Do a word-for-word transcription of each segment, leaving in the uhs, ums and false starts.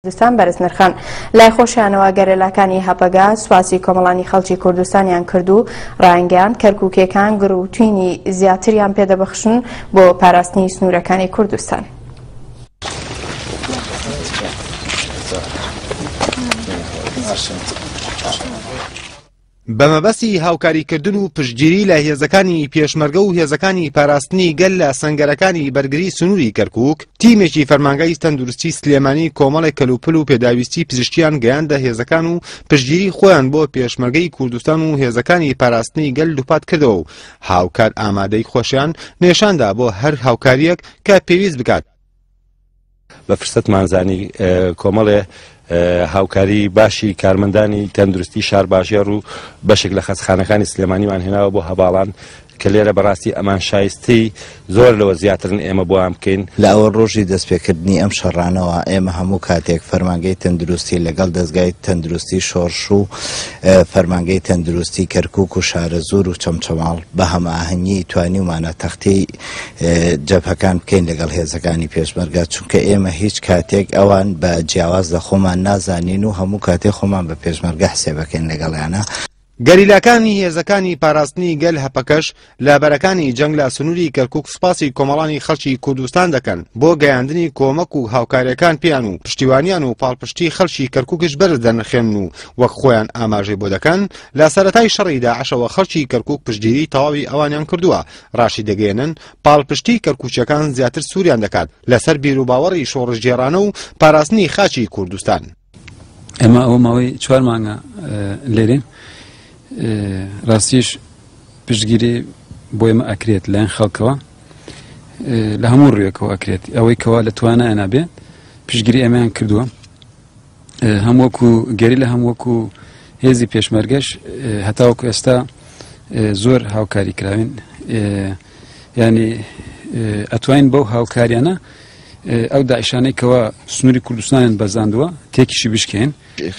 کوردستان بەرز نرخان. لای خۆشیانەوە گەریلاکانی هەپەگە سوپاسی کۆمەڵانی خەڵکی کوردستانیان کرد و ڕایانگەیاند کەرکووکیەکان گڕوتینی زیاتریان پێدەبەخشن بۆ پاراستنی سنوورەکانی کوردستان. بە مەبەستی هاوکاریکردن و پشتگیری لە هێزەکانی پێشمەرگە و هێزەکانی پاراستنی گەل لە سەنگەرەکانی بەرگری سنووری کەرکووک، تیمێکی فەرمانگای تەندروستی سلێمانی کۆمەڵێک کەلوپل و پێداویستی پزیشکیان گەیاندە هێزەکان و پشتگیری خۆیان بۆ پێشمەرگەی کوردستان و هێزەکانی پاراستنی گەل دووپات کردەوە و هاوکات ئامادەی خۆشیان نێشاندا بۆ هەر هاوکاریەک کە پێویست بکات. بە فرسەتمان زانی کۆمەڵێ هاوکاری باشی کارمەندانی تەندروستی شارباژێڕ و بەشێک لە خەستخانەکانی سلێمانیمان هێناوە بۆ هەواڵان کە لێرە بەڕاستی ئەمان شایستی زۆر لەوە زیاترن ئێمە بۆیان بکەین. لە ئەوە ڕۆژی دەستپێکردنی ئەم شەڕانەوە ئێمە هەموو کاتێک فەرمانگەی تەندروستی لەگەڵ دەستگای تەندروستی شۆڕش و فەرمانگەی تەندروستی کەرکووک و شارەزوور و چەمچەماڵ بە هەماهەنگی توانیومانە تەختی جەبهەکان بکەین لەگەڵ هێزەکانی پێشمەرگە، چونکە ئێمە هیچ کاتێک ئەوان بە جیاواز لە خۆمان نازانین و هەموو کاتێک خۆمان بە پێشمەرگە حسێبەکەین لەگەڵیانە. گەریلاکانی هێزەکانی پاراستنی گەل هەپەکەش لە بەرەکانی جەنگ لە سنووری کەرکووک سوپاسی کۆمەڵانی خەڵکی کوردستان دەکەن بۆ گەیاندنی کۆمەک و هاوکاریەکان پێیان و پشتیوانیان و پاڵپشتی خەڵکی کەرکووکش بەرز دەنرخێنن و وەک خۆیان ئاماژەی بۆ دەکەن لە سەرەتای شەڕی داعشەوە خەڵکی کەرکووک پشتگیری تەواوی ئەوانیان کردووە. ڕاشی دەگەیەنن پاڵپشتی کەرکووکیەکان زیاتر سووریان دەکات لەسەر بیروباوەڕی شۆڕشگێڕانە و پاراستنی خاکی کوردستان. ئێمە ئەوە ماوەی چوار مانگە لێرین، ڕاستیش پشتگیری بۆ ئێمە ئەکرێت لایەن خەڵکەوە لە هەموو ڕوویەکەوە ئەکرێت، ئەوەی کەوا لە توانایان نابێ پشتگیری ئێمەیان کردووە، هەم وەکو گەریلا هەم وەکو هێزی پێشمەرگەش هەتاوەکو ئێستا زۆر هاوکاری کراوین. ینی ئەتوانین بەو هاوکاریانە ئەو داعشانەی کەوا سنووری کوردستانیان بەزاندووە تێکیشی بشکێن.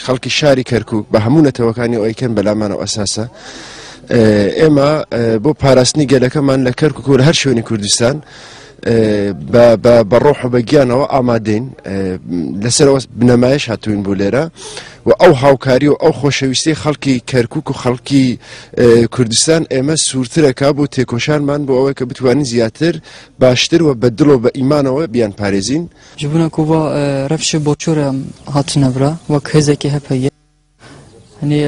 خەڵکی شاری کەرکووک بە هەموو نەتەوەکانی ئەوەیکەن بەلامانەوە ئەساسە ئێمە بۆ پاراستنی گەلەکەمان لە کەرکووک و لە هەر شوێنی کوردستان بە ڕۆح و بە گیانەوە ئامادەین، لەسەرەوە بنەمایش هاتوین بۆ لێرە و ئەو هاوکاری و ئەو خۆشەویستی خەڵکی کەرکووک و خەڵکی کوردستان ئێمە سوورترەکە بۆ تێکۆشانمان بۆ ئەوەی کە بتوانین زیاتر باشتر و بە دڵ و بە ئیمانەوە بیان پارێزین. جبونا کووا رفش بۆچۆرە هاتنەبرا وەک هێزێکی هەپەیە، هەنی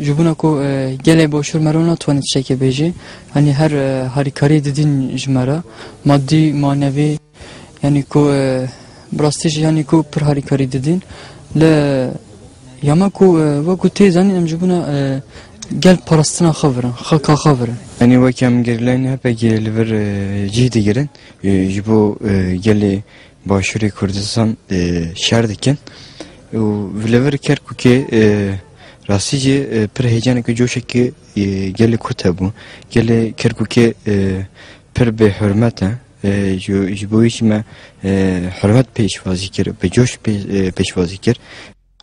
جبونا کو گەلێ بۆشور مەرۆ ناتوانێت شتێکی بێژی، هەنی هەر هاریکاری ددین ژمارە مادی مانەوی، یعنی کو بڕاستیش یعنی کو پر هاریکاری ددین لە یاما کو وەکو تێزانین ئەم جبونا گەل پاراستنا خەورن خەڵکا خەورن. یعنی وەک ئەم گەریلایان هەپەگێ لەبەر جێ دەگرن ji bo gelê başûrê Kurdistan şer dikin û li vir Kerkûkê rastî jî pir heyecaneke coşekê gelê Kurd hebû. Gelê Kerkûkê pir bêhurmet e, ji bo wî jî me hurmet pêşwazî kir, bi coş pêşwazî kir.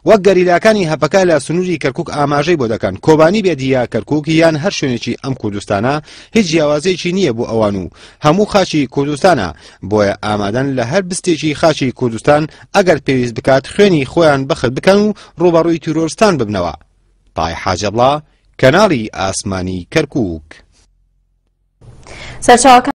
وەک گەریلاکانی هەپەکە لە سنووری کەرکووک ئاماژەی بۆ دەکەن کۆبانی بێت یا کەرکووک یان هەر شوێنێکی ئەم کوردستانە هیچ جیاوازێکی نییە بۆ ئەوان و هەموو خاچی کوردستانە، بۆیە ئامادەن لە هەر بستێکی خاچی کوردستان ئەگەر پێویست بکات خوێنی خۆیان بەخت بکەن و ڕووبەڕووی تیرۆرستان ببنەوە. پای حاجەبڵا، کەناڵی ئاسمانی کەرکووک. سەرچاوەکان